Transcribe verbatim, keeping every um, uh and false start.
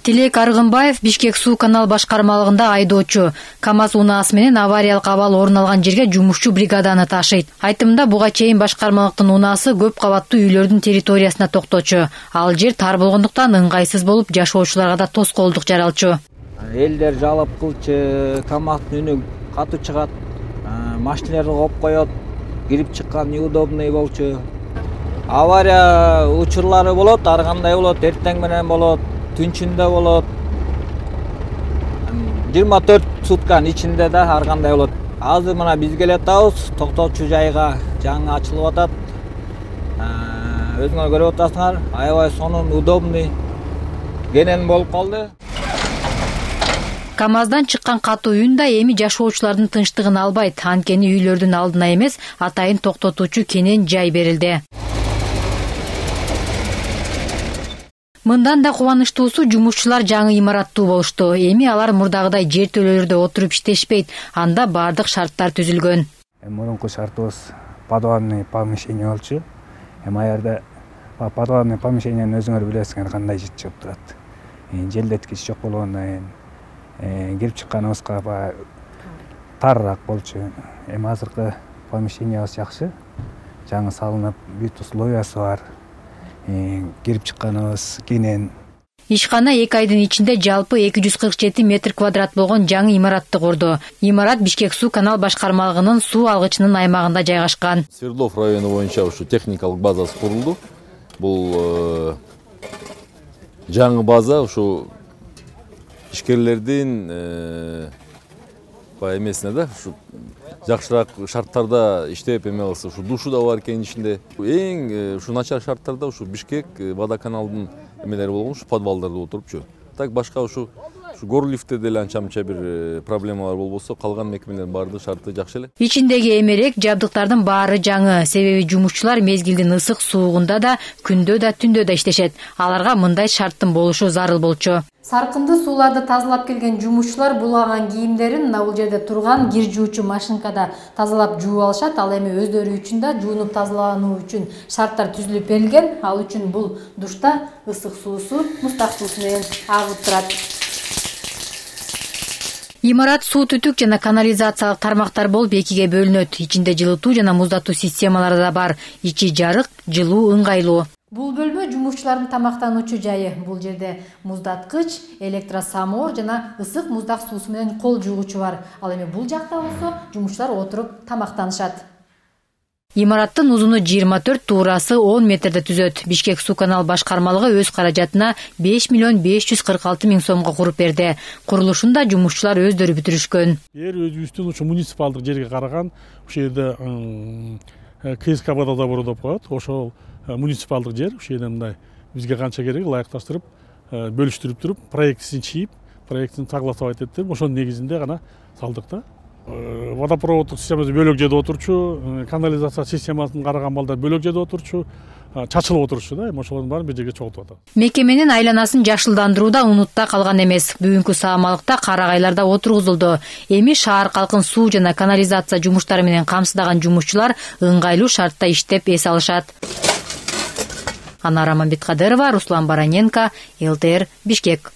Тилек Аргынбаев Бишкек суу канал башкармалыгында айдоочу. КамАЗ унаасы менен авариялык абал орун алган жерге жумушчу бригаданы ташыйт. Айтымында буга чейин башкармалыктын унаасы көп кабаттуу үйлөрдүн территориясына токточу. Ал жер тар болгондуктан ыңгайсыз болуп, жашоочуларга да тоскоолдук жаралчу. Элдер жалап кылчу, КамАЗдын үнү катуу чыгат, машиналарды коп коет, кирип чыккан неудобный болчу. Авария учурлары болот, ар кандай болот, эртең менен болот, түнчүндө болот. жыйырма төрт сутканын ичинде да ар кандай болот. Азыр мына биз келатабыз, токтоочу жайга жаңы ачылып атат. Өзүңөр көрүп атасыңар, аябай сонун удобный кенен болуп калды. КамАЗдан чыккан катуу үн да эми жашоочулардын тынчтыгын албайт. Анткени үйлөрдүн алдына эмес, атайын токтотуучу кенен жай берилди. Мындан да кубанычтуусу жумушчулар жаңы имараттуу болушту. Эми алар мурдагыдай жертөлөлөрдө отуруп иштешпейт. Анда бардык шарттар түзүлгөн. Мурунку шартыбыз подвальный помещение болчу. Эми аярда подвальный помещениенин өзүңөр билесиңер кандай жыт чыгып турат. Желдеткич жок болгондон кийин кирип чыкканыбызга баягы тарыраак болчу. Эми азыркы помещениябыз жакшы. Жаңы салынып, бүт условиясы бар. Кирип чыкканыбыз кенен. Ишкана эки айдын ичинде жалпы эки жүз кырк жети метр квадрат болгон жаңы имаратты курду. Имарат Бишкек суу канал башкармалыгынын суу алгычынын аймагында жайгашкан. Свердлов району боюнча ушу техникалык базасы курулду. Бул жаңы база ушу ишкерлердин баягы эмесине да ушу жакшыраак шарттарда иштеп эме кылса, ушу душу да бар экен ичинде. Эң ушу начар шарттарда ушу Бишкек водоканалдын эмелери болгон, ушу подвалдарда отурупчу. Так башка ушу ушу горлифте деле анча-мынча бир проблемалар болбосо, калган мекемелердин баардык шарты жакшы эле. Ичиндеги эмерек жабдыктардын баары жаңы, себеби жумушчулар мезгилдин ысык суугунда да, күндө да, түндө да иштешет. Аларга мындай шарттын болушу зарыл болчу. Саркынды сууларды тазалап келген жумушчулар булаган кийимдерин мына бул жерде турган кир жуучу машинкада тазалап жууп алышат. Ал эми өздөрү үчүн да жуунуп тазалануу үчүн шарттар түзүлүп берилген. Ал үчүн бул душта ысык суусу муздак суусу менен агып турат. Имарат суу түтүк жана канализациялык тармактар болуп экиге бөлүнөт. Ичинде жылытуу жана муздатуу системалары да бар. Ичи жарык, жылуу ыңгайлуу. Бул бөлмө жумушчулардын тамактануучу жайы. Бул жерде муздаткыч, электросамор жана ысык муздак суусу менен кол жуугучу бар. Ал эми бул жакта болсо жумушчулар отуруп тамактанышат. Имараттын узуну жыйырма төрт, туурасы он метрди түзөт. Бишкек суу канал башкармалыгы өз каражатына беш миллион беш жүз кырк алты миң сомго куруп берди. Курулушун да жумушчулар өздөрү бүтүрүшкөн. Жер өзүбүздүн ушу муниципалдык жерге караган, ушул жерде КСК водозабору деп коет. Ошол муниципалдык жер, ушул жерде мындай бизге канча керек ылайыкташтырып, бөлүштүрүп туруп, проектисин чийип, проектин согласовать этип, ошонун негизинде гана салдык да. Водопроводдук системасы бөлөк жерде отурчу, канализация системасын караган балдар бөлөк жерде отурчу, чачылып отурчу да, эми ошолордун баарын бир жерге чогултуп атат. Мекеменин айланасын жашылдандырууда унутта калган эмес. Бүгүнкү саамалыкта карагайлар да отургузулду. Эми шаар калкын суу жана канализация жумуштары менен камсыздаган жумушчулар ыңгайлуу шартта иштеп эс алышат. Анара Мамбеткадырова, Руслан Бараненко, эл тэ эр, Бишкек.